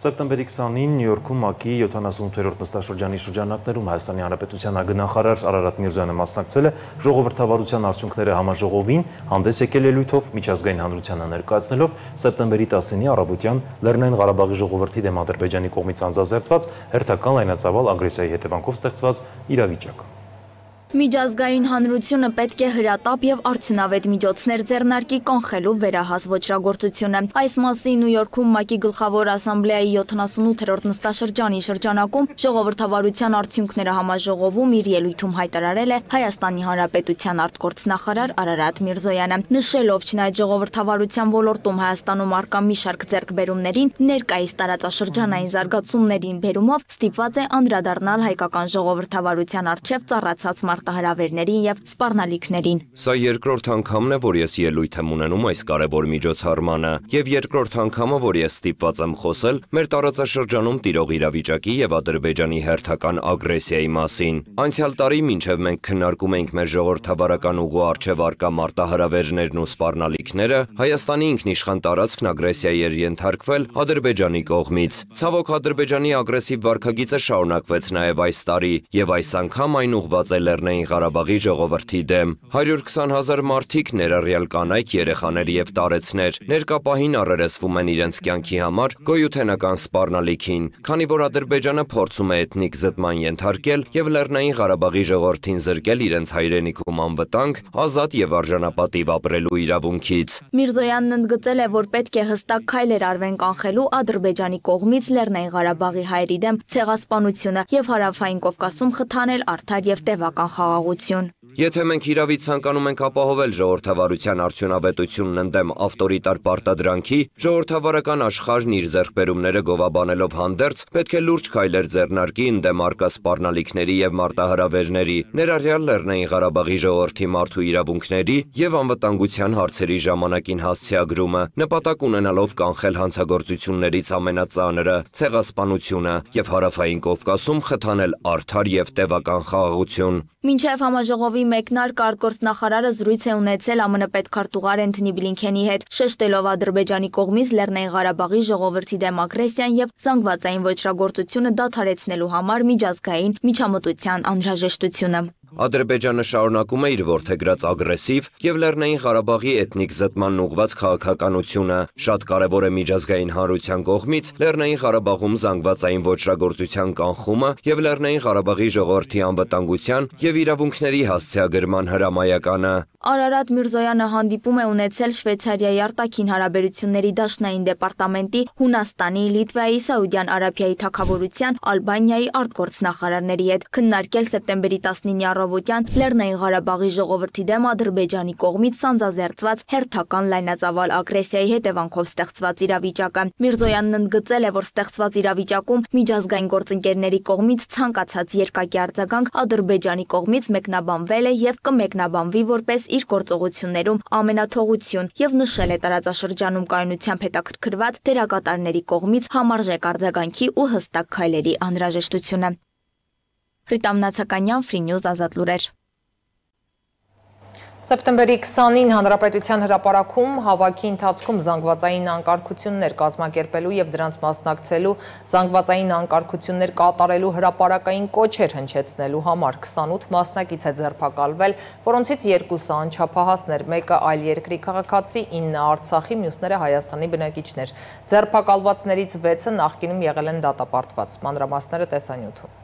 Սեպտեմբերի քսանին Նյու Յորքում ՄԱԿ-ի յոթանասունութերորդ նստաշրջանի շրջանակներում Հայաստանի Հանրապետության ագնախարար Արարատ Միրզոյանը մասնակցել է ժողովրդավարության արդյունքները համաժողովին, հանդես եկել ելույթով միջազգային հանրությանը ներկայացնելով սեպտեմբերի տասնինի առավոտյան Լեռնային Ղարաբաղի ժողովրդի դեմ Ադրբեջանի կողմից անձազերծված հերթական լայնածավալ ագրեսիայի հետևանքով ստեղծված իրավիճակը։ Միջազգային հանրությունը պետք է հրատապ եւ արդյունավետ միջոցներ ձեռնարկի կանխելու վերահաս ոչրագործությունը։ Այս մասին Նյու Յորքում ՄԱԿ-ի գլխավոր ասամբլեայի յոթանասունութերորդ նստաշրջանի շրջանակում ժողովրդավարության արդյունքները համաժողովում իր ելույթում հայտարարել է Հայաստանի Հանրապետության արտգործնախարար Արարատ Միրզոյանը, նշելով չնայած ժողովրդավարության ոլորտում Հայաստանում առկա մի շարք ձեռքբերումներին, ներկայիս տարածաշրջանային զարգացումներին բերումով ստիպված է անդրադառնալ հայկական ժողովրդավարության առջև ծառացած մարտահրավերներին եւ սպառնալիքներին։ Սա երկրորդ անգամն է, որ ես ելույթ եմ ունենում այս կարևոր միջոցառմանը, եւ երկրորդ անգամը, որ ես ստիպված եմ խոսել մեր տարածաշրջանում տիրող իրավիճակի եւ Ադրբեջանի հերթական ագրեսիայի մասին։ Անցյալ տարի մինչեւ մենք քննարկում էինք մեր ժողովրդավարական ուղու առջև առկա մարտահրավերներն ու սպառնալիքները, Հայաստանի ինքնիշխան տարածքն ագրեսիայի էր ենթարկվել Ադրբեջանի կողմից։ Ցավոք Ադրբեջանի ագրեսիվ վարքագիծը շարունակվեց նաեւ այս տարի, եւ այս անգամ այն ուղղված է Լեռնային Ղարաբաղի ժողովրդի դեմ։ հարյուր քսան հազար մարդիկ, ներառյալ կանայք, երեխաներ եւ տարեցներ, ներկա պահին առերեսվում են իրենց կյանքի համար գոյութենական սպառնալիքին, քանի որ Ադրբեջանը փորձում է էթնիկ զտման ենթարկել եւ Լեռնային Ղարաբաղի ժողովրդին զրկել իրենց հայրենիքում անվտանգ, ազատ եւ արժանապատիվ ապրելու իրավունքից։ Միրզոյանն ընդգծել է, որ պետք է հստակ քայլեր արվեն կանխելու Ադրբեջանի կողմից Լեռնային Ղարաբաղի հայերի դեմ ցեղասպանությունը եւ Հարավային Կովկասում խթանել արդար եւ տևական խաղաղություն։ Եթե մենք իրավի ցանկանում ենք ապահովել ժողովրդավարության արդյունավետությունն ընդդեմ ավտորիտար պարտադրանքի, ժողովրդավարական աշխարհն իր ձեռքբերումները գովաբանելով հանդերձ պետք է լուրջ քայլեր ձեռնարկի ընդդեմ առկա սպառնալիքների եւ մարտահրավերների, ներառյալ Լեռնային Ղարաբաղի ժողովրդի մարդու իրավունքների եւ անվտանգության հարցերի ժամանակին հասցեագրումը, նպատակ ունենալով կանխել հանցագործություններից ամենածանրը՝ ցեղասպանությունը եւ Հարավային Կովկասում խթանել արդար եւ տևական խաղաղություն։ Մինչև համաժողովի մեկնարկ արտգործնախարարը զրույց է ունեցել ԱՄՆ պետքարտուղար Էնթոնի Բլինքենի հետ, շեշտելով Ադրբեջանի կողմից Լեռնային Ղարաբաղի ժողովրդի դեմ ագրեսիան եւ զանգվածային ոչրագործությունը դադարեցնելու համար միջազգային միջամտության անհրաժեշտությունը։ Ադրբեջանը շարունակում է իր որդեգրած ագրեսիվ եւ Լեռնային Ղարաբաղի էթնիկ զտմանն ուղղված քաղաքականությունը։ Շատ կարևոր է միջազգային հանրության կողմից Լեռնային Ղարաբաղում զանգվածային ոչրագործության կանխումը եւ Լեռնային Ղարաբաղի ժողովրդի անվտանգության եւ իրավունքների հասցեագրման հրամայականը։ Արարատ Միրզոյանը հանդիպում է ունեցել Շվեյցարիայի արտաքին հարաբերությունների դաշնային դեպարտամենտի, Հունաստանի, Լիտվայի, Սաուդյան Արաբիայի թագավորության, Ալբանիայի արտգործնախարարների հետ, քննարկել սեպտեմբերի տասնինի առավոտյան Լեռնային Ղարաբաղի ժողովրդի դեմ Ադրբեջանի կողմից սանձազերծված հերթական լայնածավալ ագրեսիայի հետևանքով ստեղծված իրավիճակը։ Միրզոյանն ընդգծել է, որ ստեղծված իրավիճակում միջազգային գործընկերների կողմից ցանկացած երկակի արձագանք Ադրբեջանի կողմից մեկնաբանվել է եւ կմեկնաբանվի որպես իր գործողություններում ամենաթողություն եւ նշել է տարածաշրջանում կայունությամբ հետաքրքրված դերակատարների կողմից համարժեք արձագանքի ու հստակ քայլերի անհրաժեշտությունը։ Ռիտամ Նացականյան, Free News, Ազատ լուրեր։ Սեպտեմբերի քսանին Հանրապետության հրապարակում հավաքի ընթացքում զանգվածային անկարգություններ կազմակերպելու եւ դրանց մասնակցելու զանգվածային անկարգություններ կատարելու հրապարակային կոչեր հնչեցնելու համար քսանութ մասնակից է ձերբակալվել, որոնցից երկուսը անչափահասներ, մեկը այլ երկրի քաղաքացի, ինը Արցախի, մյուսները Հայաստանի բնակիչներ։ Ձերբակալվածներից վեցը նախկինում եղել են դատապարտված։ Մանրամասները տեսանյութում։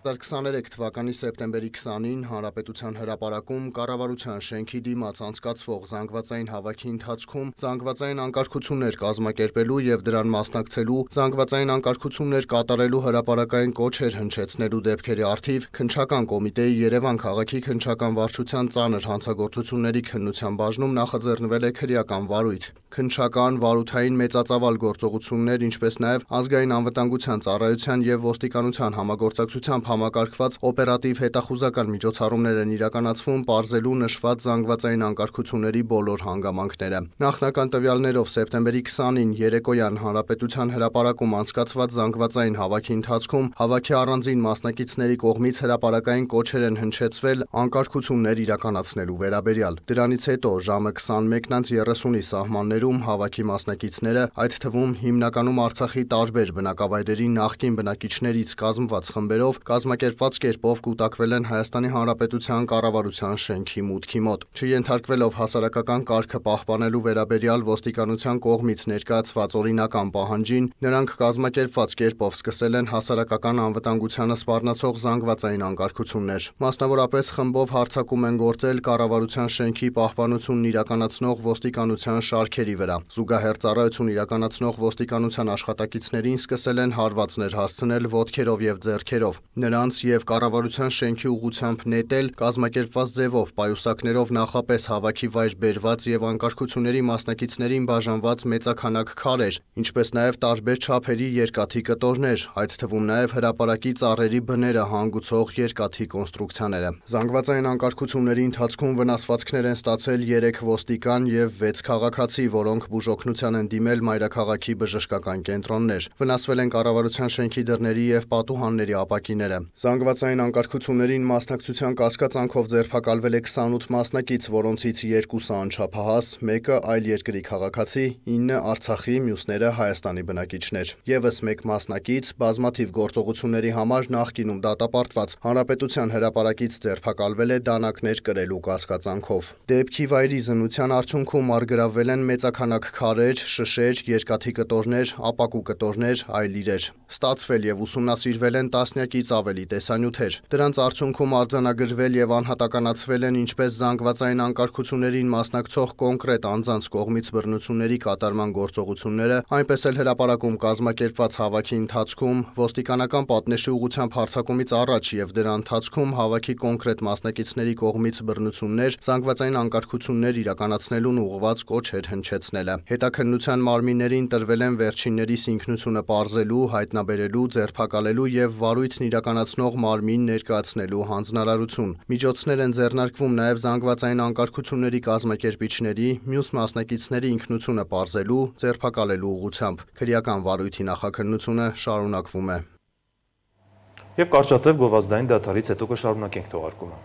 երկու հազար քսաներեք թվականի սեպտեմբերի քսանին Հանրապետության հրապարակում կառավարության շենքի դիմաց անցկացվող զանգվածային հավաքի ընթացքում զանգվածային անկարգություններ կազմակերպելու եւ դրան մասնակցելու, զանգվածային անկարգություններ կատարելու հրապարակային կոչեր հնչեցնելու դեպքերի առթիվ քննչական կոմիտեի Երևան քաղաքի քննչական վարչության ծանր հանցագործությունների քննության բաժնում նախաձեռնվել է քրեական վարույթ։ Քննչական, վարութային մեծածավալ գործողություններ, ինչպես նաեւ ազգային անվտանգության ծառայության եւ ոստիկանության համագործակցությամբ համակարգված օպերատիվ հետախուզական միջոցառումներ են իրականացվում պարզելու նշված զանգվածային անկարգությունների բոլոր հանգամանքները։ Նախնական տվյալներով սեպտեմբերի քսանին երեկոյան Հանրապետության հրապարակում անցկացված զանգվածային հավաքի ընթացքում հավաքի առանձին մասնակիցների կողմից հրապարակային կոչեր են հնչեցվել անկարգություններ իրականացնելու վերաբերյալ։ Դրանից հետո ժամը քսանմեկն երեսունի սահմաններում հավաքի մասնակիցները, այդ թվում հիմնականում Արցախի տարբեր բնակավայրերի նախկին բնակիչներից կազմված խմբերով կազմակերպված կերպով կուտակվել են Հայաստանի Հանրապետության կառավարության շենքի մուտքի մոտ։ Չենթարկվելով հասարակական կարգը պահպանելու վերաբերյալ ոստիկանության կողմից ներկայացված օրինական պահանջին, նրանք կազմակերպված կերպով սկսել են հասարակական անվտանգությանը սպառնացող զանգվածային անկարգություններ։ Մասնավորապես խմբով հարձակում են գործել կառավարության շենքի պահպանությունն իրականացնող ոստիկանության շարքերի վրա։ Զուգահեռ ծառայություն իրականացնող ոստիկանության աշխատակիցներին սկսել են հարվածներ հասցնել ոտքերով եւ ձեռքերով։ Նրանց եւ կառավարության շենքի ուղղությամբ նետել, կազմակերպված ձևով պայուսակներով նախապես հավաքի վայր բերված եւ անկարգությունների մասնակիցներին բաժանված մեծաքանակ քարեր, ինչպես նաեւ տարբեր չափերի երկաթի կտորներ, այդ թվում նաեւ հրապարակի ծառերի բները հանգուցող երկաթի կոնստրուկցիաները։ Զանգվածային անկարգությունների ընթացքում վնասվածքներ են ստացել երեք ոստիկան եւ վեց քաղաքացի, որոնք բուժօգնության են դիմել մայրաքաղաքի բժշկական կենտրոններ։ Վնասվել են կառավարության շենքի դռների եւ պատուհանների ապակիները։ Զանգվածային անկարգություններին մասնակցության կասկածանքով ձերբակալվել է քսանութ մասնակից, որոնցից երկուսը անչափահաս, մեկը այլ երկրի քաղաքացի, ինը Արցախի, մյուսները Հայաստանի բնակիչներ։ Եվս մեկ մասնակից բազմաթիվ գործողությունների համար նախկինում դատապարտված Հանրապետության հրապարակից ձերբակալվել է դանակներ կրելու կասկածանքով։ Դեպքի վայրի զննության արդյունքում առգրավվել են մեծաքանակ քարեր, շշեր, երկաթի կտորներ, ապակու կտորներ, այլ իրեր։ Ստացվել եւ ուսումնասիրվել են տասնյակից ավելի տեսանյութեր։ Դրանց արդյունքում արձանագրվել եւ անհատականացվել են ինչպես զանգվածային անկարգություններին մասնակցող կոնկրետ անձանց կողմից բռնությունների կատարման գործողությունները, այնպես էլ հրապարակում կազմակերպված հավաքի ընթացքում ոստիկանական պատնեշի ուղղությամբ հարձակումից առաջ եւ դրա ընթացքում հավաքի կոնկրետ մասնակիցների կողմից բռնություններ, զանգվածային անկարգություններ իրականացնելուն ուղղված կոչեր հնչեցնելը։ Հետաքննության մարմիններին տրվել են վերջիններիս ինքնությունը պարզելու, հայտնաբերելու, ձերբակալելու եւ վարույթն իրականացնող մարմին ներկայացնելու հանձնարարություն։ Միջոցներ են ձեռնարկվում նաեւ զանգվածային անկարգությունների կազմակերպիչների, մյուս մասնակիցների ինքնությունը պարզելու, ձերբակալելու ուղղությամբ։ Քրեական վարույթի նախաքննությունը շարունակվում է։ Եվ կարճատև գովազդային դադարից հետո կշարունակենք թողարկումը։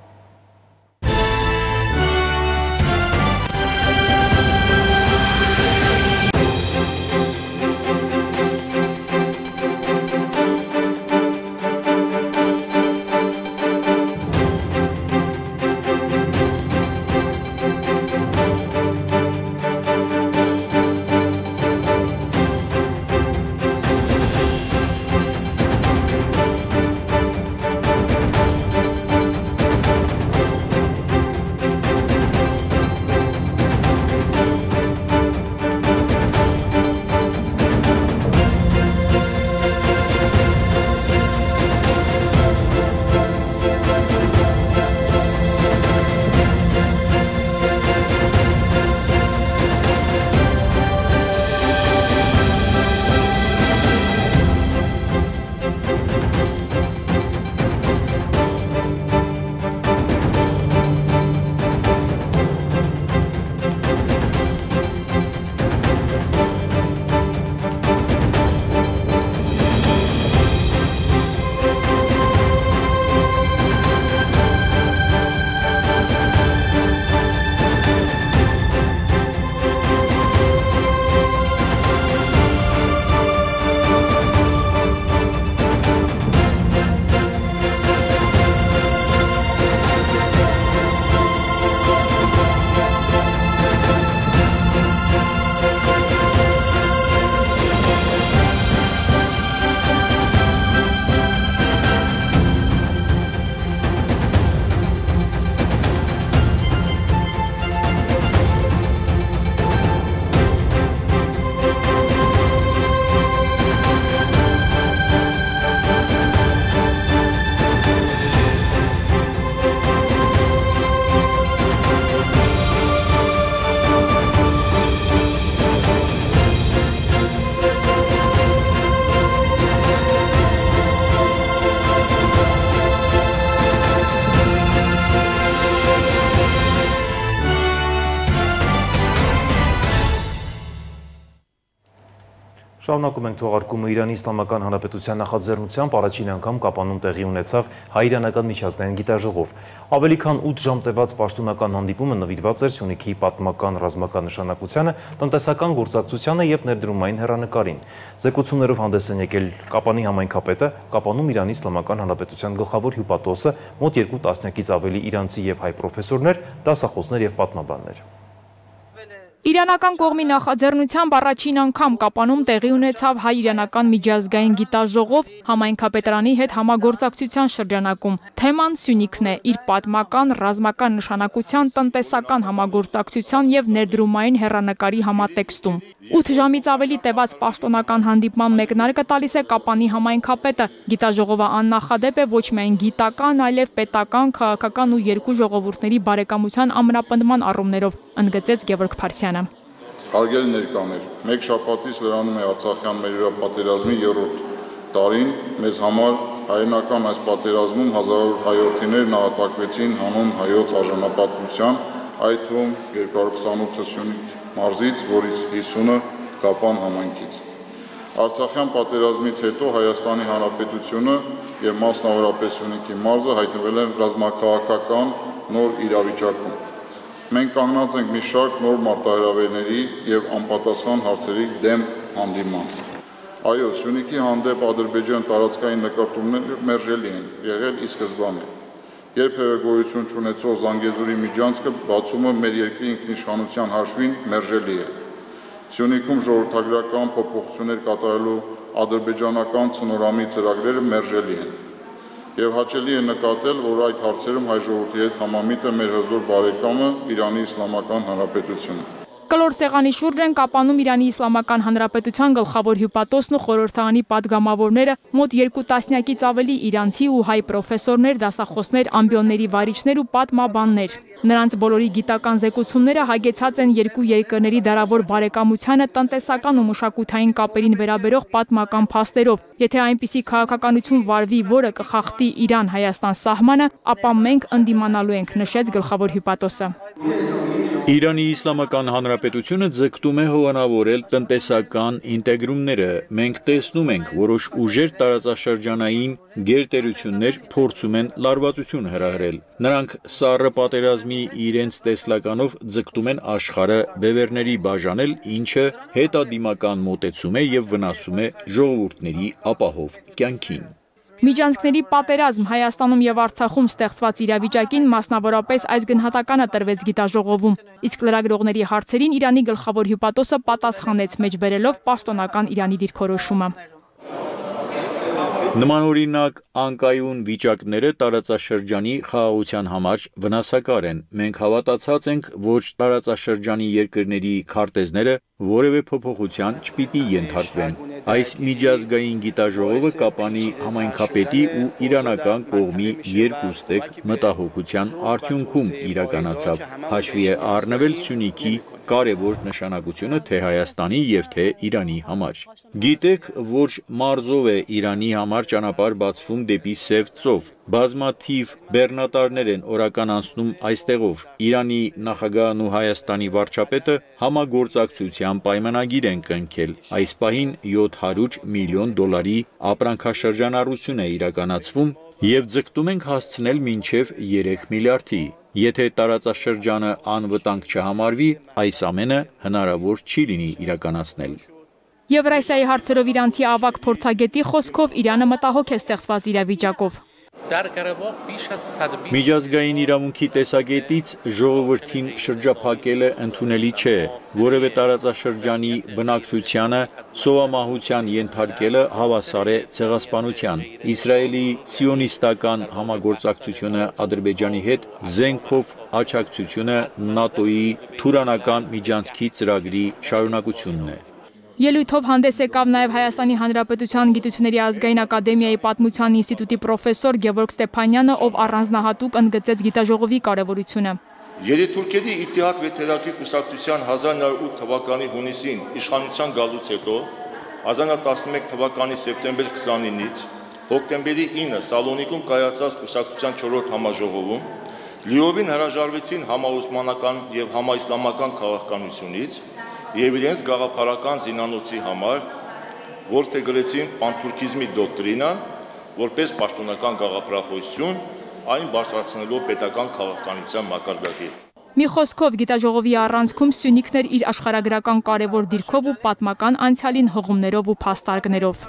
Շարունակում ենք թողարկումը Իրանի Իսլամական Հանրապետության նախաձեռնությամբ առաջին անգամ Կապանում տեղի ունեցավ հայ-իրանական միջազգային գիտաժողով։ Ավելի քան ութ ժամ տևած պաշտոնական հանդիպումը նվիրված էր Սյունիքի պատմական ռազմական նշանակությանը, տնտեսական գործակցությանը և ներդրումային հեռանկարին։ Զեկուցումներով հանդես են եկել Կապանի համայնքապետը, Կապանում Իրանի Իսլամական Հանրապետության գլխավոր հյուպատոսը, մոտ երկու տասնյակից ավելի իրանցի և հայ պրոֆեսորներ, դասախոսներ և պատմաբաններ։ Իրանական կողմի նախաձեռնությամբ առաջին անգամ Կապանում տեղի ունեցավ հայ-իրանական միջազգային գիտաժողով համայնքապետարանի հետ համագործակցության շրջանակում։ Թեման Սյունիքն է՝ իր պատմական, ռազմական նշանակության, տնտեսական համագործակցության և ներդրումային հեռանկարի համատեքստում։ ութ ժամից ավելի տևած պաշտոնական հանդիպման մեկնարկը տալիս է Կապանի համայնքապետը։ Գիտաժողովը աննախադեպ է ոչ միայն գիտական, այլև պետական, քաղաքական ու երկու ժողովուրդների բարեկամության ամրապնդման առումներով, ընդգծեց Գևորգ Փարսյանը։ Հարգելի ներկաներ, մեկ շաբաթից վերանում է Արցախյան մերօրյա պատերազմի երրորդ տարին, մեզ համար հայրենական այս պատերազմում հազարավոր հայրենիներ նահատակվեցին հանուն հայոց արժանապատվության, այդ թվում երկու հարյուր քսանութը Սյունիք մարզից, որից հիսունը Կապան համայնքից։ Արցախյան պատերազմից հետո Հայաստանի Հանրապետությունը և մասնավորապես Սյունիքի մարզը հայտնվել են ռազմաքաղաքական նոր իրավիճակում։ Մենք կանգնած ենք մի շարք նոր մարտահրավերների և անպատասխան հարցերի դեմ հանդիման։ Այո, Սյունիքի հանդեպ Ադրբեջան տարածքային նկարտումները մերժելի են եղել ի սկզբանե։ Երբևէ գոյություն չունեցող Զանգեզուրի միջանցքը բացումը մեր երկրի ինքնիշխանության հաշվին մերժելի է։ Սյունիքում ժողովրդագրական փոփոխություններ կատարելու ադրբեջանական ցնորամի ծրագրերը մերժելի են։ Եվ հաճելի է նկատել, որ այդ հարցերում հայ ժողովրդի հետ համամիտ է մեր հզոր բարեկամը Իրանի Իսլամական Հանրապետությունը։ Կլոր սեղանի շուրջ են Կապանում Իրանի Իսլամական Հանրապետության գլխավոր հյուպատոսն ու խորհրդարանի պատգամավորները, մոտ երկու տասնյակից ավելի իրանցի ու հայ պրոֆեսորներ, դասախոսներ, ամբիոնների վարիչներ ու պատմաբաններ։ Նրանց բոլորի գիտական զեկուցումները հագեցած են երկու երկրների դարավոր բարեկամությանը, տնտեսական ու մշակութային կապերին վերաբերող պատմական փաստերով։ Եթե այնպիսի քաղաքականություն վարվի, որը կխախտի Իրան-Հայաստան սահմանը, ապա մենք ընդդիմանալու ենք, նշեց գլխավոր հյուպատոսը։ Իրանի Իսլամական Հանրապետությունը ձգտում է հովանավորել տնտեսական ինտեգրումները։ Մենք տեսնում ենք, որոշ ուժեր տարածաշրջանային գերտերություններ փորձում են լարվածություն հրահրել։ Նրանք սառը պատերազմի իրենց տեսլականով ձգտում են աշխարհը բևեռների բաժանել, ինչը հետադիմական մոտեցում է և վնասում է ժողովուրդների ապահով կյանքին։ Միջանցքների պատերազմ Հայաստանում և Արցախում ստեղծված իրավիճակին մասնավորապես այս գնահատականը տրվեց գիտաժողովում, իսկ լրագրողների հարցերին Իրանի գլխավոր հյուպատոսը պատասխանեց, մեջբերելով պաշտոնական Իրանի դիրքորոշումը։ Նմանօրինակ անկայուն վիճակները տարածաշրջանի խաղաղության համար վնասակար են։ Մենք հավատացած ենք, որ տարածաշրջանի երկրների քարտեզները որևէ փոփոխության չպիտի ենթարկվեն։ Այս միջազգային գիտաժողովը Կապանի համայնքապետի ու իրանական կողմի երկուստեք մտահոգության արդյունքում իրականացավ։ Հաշվի է առնվել Սյունիքի կարևոր նշանակությունը թե Հայաստանի և թե Իրանի համար։ Գիտեք, որ մարզով է Իրանի համար ճանապարհ բացվում դեպի Սև ծով։ Բազմաթիվ բեռնատարներ են օրական անցնում այստեղով։ Իրանի նախագահն ու Հայաստանի վարչապետը համագործակցության պայմանագիր են կնքել։ Այս պահին յոթ հարյուր միլիոն դոլարի ապրանքաշրջանառություն է իրականացվում և ձգտում ենք հասցնել մինչև երեք միլիարդի։ Եթե տարածաշրջանը անվտանգ չհամարվի, այս ամենը հնարավոր չի լինի իրականացնել։ Եվրասիայի հարցերով իրանցի ավագ փորձագետի խոսքով Իրանը մտահոգ է ստեղծված իրավիճակով։ Միջազգային իրավունքի տեսակետից ժողովրդին շրջափակելը ընդունելի չէ, որևէ տարածաշրջանի բնակչությանը սովամահության ենթարկելը հավասար է ցեղասպանության։ Իսրայելի սիոնիստական համագործակցությունը Ադրբեջանի հետ զենքով աջակցությունը ՆԱՏՕ-ի Թուրանական միջանցքի ծրագրի շարունակությունն է։ Ելույթով հանդես եկավ նաև Հայաստանի Հանրապետության Գիտությունների ազգային ակադեմիայի պատմության ինստիտուտի պրոֆեսոր Գևորգ Ստեփանյանը, ով առանձնահատուկ ընդգծեց գիտաժողովի կարևորությունը։ Երիտուրքերի Իթիհադ վեթերակի կուսակցության հազար նոյ ութ թվականի հունիսին իշխանության գալուց հետո հազար նոյ տասնմեկ թվականի սեպտեմբեր քսանինից հոկտեմբերի ինը Սալոնիկում կայացած կուսակցության չորրորդ համաժողովում լիովին հրաժարվեցին համաօսմանական և համաիսլամական քաղաքականությունից և իրենց գաղափարական զինանոցի համար որդեգրեցին պանթուրքիզմի դոկտրինան, որպես պաշտոնական գաղափարախոսություն, այն բարձրացնելով պետական քաղաքականության մակարդակի։ Մի խոսքով գիտաժողովի առանցքում Սյունիքն էր իր աշխարհագրական կարևոր դիրքով ու պատմական անցյալին հղումներով ու փաստարկներով։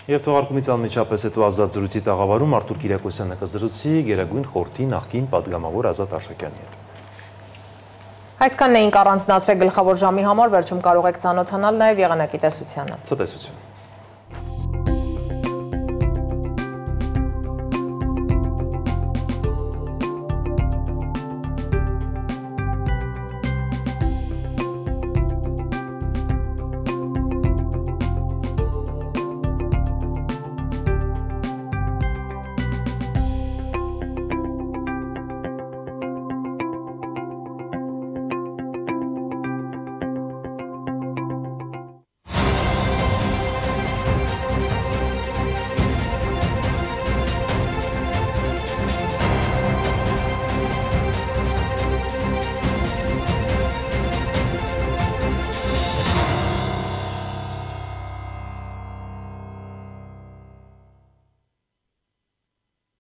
Եվ թողարկումից անմիջապես հետո ազատ զրույցի տաղավարում Արթուր Կիրակոսյանը կզրուցի Գերագույն խորհրդի նախկին պատգամավոր Ազատ Արշակյանի հետ։ Այսքանն էինք առանձնացրել գլխավոր ժամի համար, վերջում կարող եք ծանոթանալ նաև եղանակի տեսությանը։ Ցտեսություն։